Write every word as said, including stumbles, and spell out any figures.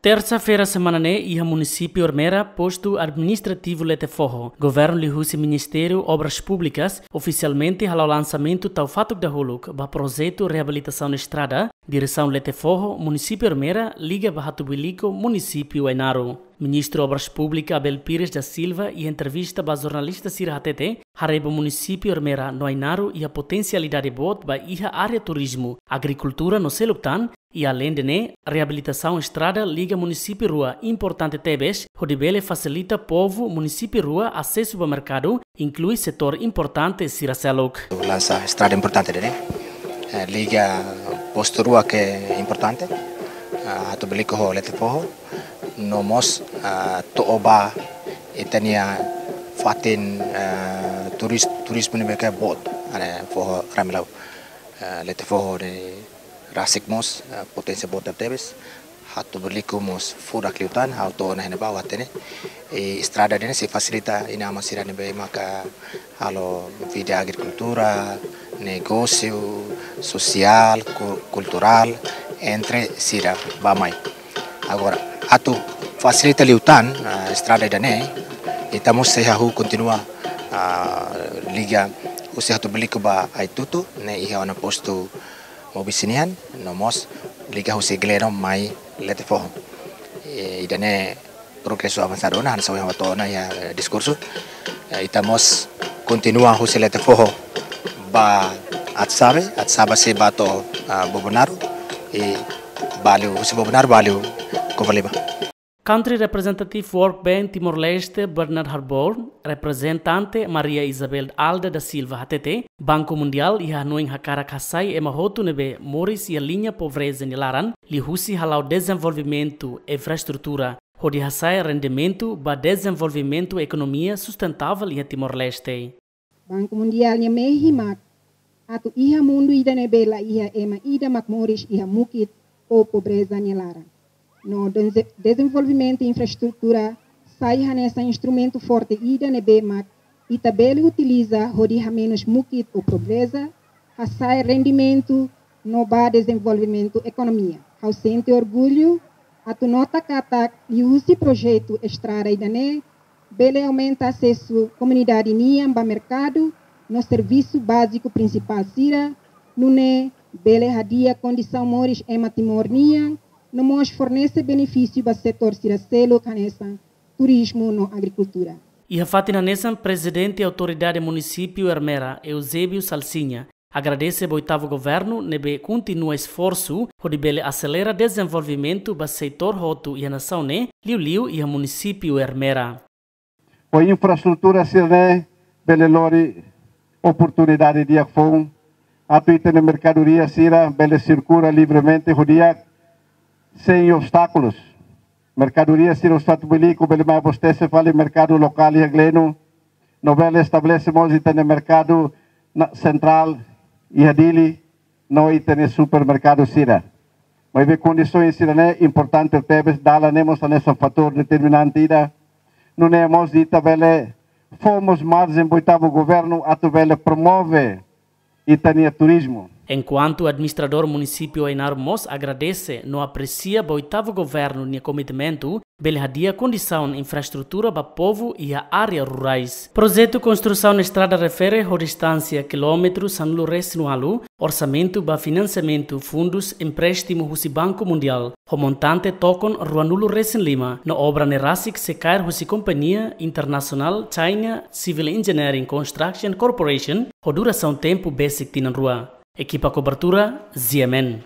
Tersa-feira semana ne'e, iha munisípiu Ermera, postu administrativu Letefoho, governu liuhusi Ministériu Obras Públikas ofisialmente hala'o lansamentu tau fatuk dahuluk ba projetu reabilitasaun estrada, diresaun Letefoho, munisípiu Ermera, liga ba Hatubuilico, munisípiu Ainaro. Ministru Obras Públikas Abel Pires da Silva, iha entrevista ba jornalista sira hatete, haree ba munisípiu Ermera no Ainaro iha potensialidade boot ba iha área turizmu, agrikultura no seluk tan, i aleinde ne'e, reabilitasaun estrada liga munisípiu rua importante tebes, hodi bele fasilita povu munisípiu rua asesu ba merkadu, inklui setór importante sira seluk. Lansa estrada importante ne'e, eh, liga postu rua ke importante, ah, Hatubuilico ho Letefoho, no mós, ah, to'o ba ita-nia fatin, ah, turis-, turizmu ne'ebé ke boot, ah, ne'e foho Ramelau, ah, Letefoho ne'e rasik mós, ah, poténsia boot tebes. Hatubuilico mós furak liután, ha'u to'o ona iha ne'ebá ha'u hatene. I estrada ne'e sei fasilita inan-aman sira ne'ebé maka halo vida agrikultura, negósiu, sosiál, ku-, kulturál, entre sira bá-mai. Agora, atu fasilita liután, ah, estrada ida-ne'e, ita mós sei hahú kontinua, ah, liga husi Hatubuilico ba Aitutu, ne'e iha ona postu Mobisi nian, no mós liga husi Gleno mai Letefoho. Eh, ida-ne'e progresu avansadu ona, hanesan ohin ha'u hato'o ona iha, eh, diskursu. Eh, ita mós kontinua husi Letefoho ba Atsabe, Atsabe sei ba to'o, ah, Bobonaro, i ba liu, husi Bobonaro ba liu Covalima. Country Representative World Bank Timor-Leste, Bernard Harbour, reprezentante Maria Isabel Alda da Silva hatete, Banku Mundiál iha hanoin hakarak hasai ema hotu ne'ebé moris iha liña pobreza nia laran, liuhusi hala'o dezenvolvimentu infraestrutura, hodi hasa'e rendimentu ba dezenvolvimentu ekonomia sustentável iha Timor-Leste. Banku Mundiál nia mehi mak atu iha mundu ida ne'ebé la iha ema ida mak moris iha mukit ou pobreza nia laran. No denze-, dezenvolvimentu infraestrutura sai hanesan instrumentu forte ida ne'ebé mak ita bele utiliza hodi hamenus mukit ou pobreza, hasa'e rendimentu no ba dezenvolvimentu ekonomia. Ha'u sente orgullu atu nota katak liuhusi projetu estrada ida-ne'e bele aumenta asesu komunidade nian ba merkadu no servisu báziku prinsipál sira, nune'e bele hadi'a kondisaun moris ema Timor nian, no mós fornese benefísiu ba setór sira seluk hanesan turizmu no agrikultura. Iha fatin hanesan, Prezidente Autoridade Munisípiu Ermera, Eusébio Salsinha, agradese ba oitavu governu ne'ebé kontinua esforsu hodi bele aselera dezenvolvimentu ba setór hotu iha nasaun ne'e, liuliu iha munisípiu Ermera. Ho infraestrutura sira-ne'e bele lori oportunidade di'ak foun atu ita-nia merkadoria sira bele sirkula livremente ho di'ak, sein obstákulus. Merkadoria sira husi Hatubuilico bele mai abastese fali merkadu lokál iha Gleno, no bele estabelese mós ita-nia merkadu na-, sentrál iha Dili, no ita-nia supermerkadu sira. Maibé kondisaun sira-ne'e importante tebes, dalan ne'e mós hanesan fatór determinante ida. Nune'e mós ita bele fó mós marjen ba oitavu governu atu bele promove ita-nia turizmu. Enkuantu administradór munisípiu Ainaro mós agradese no apresia ba oitavu governu nia komitmentu bele hadi'a kondisaun infraestrutura ba povu iha área rurais. Projetu konstrusaun estrada refere ho distánsia kilómetru sanulu-resin-ualu, orsamentu ba finansiamentu fundus empréstimu husi Banku Mundiál, ho montante tokon ruanulu-resin-lima, no obra ne'e rasik sei kaer husi kompañia internasionál China Civil Engineering Construction Corporation, ho durasaun tempu besik tinan rua. Ekipa kobertura, Z M N.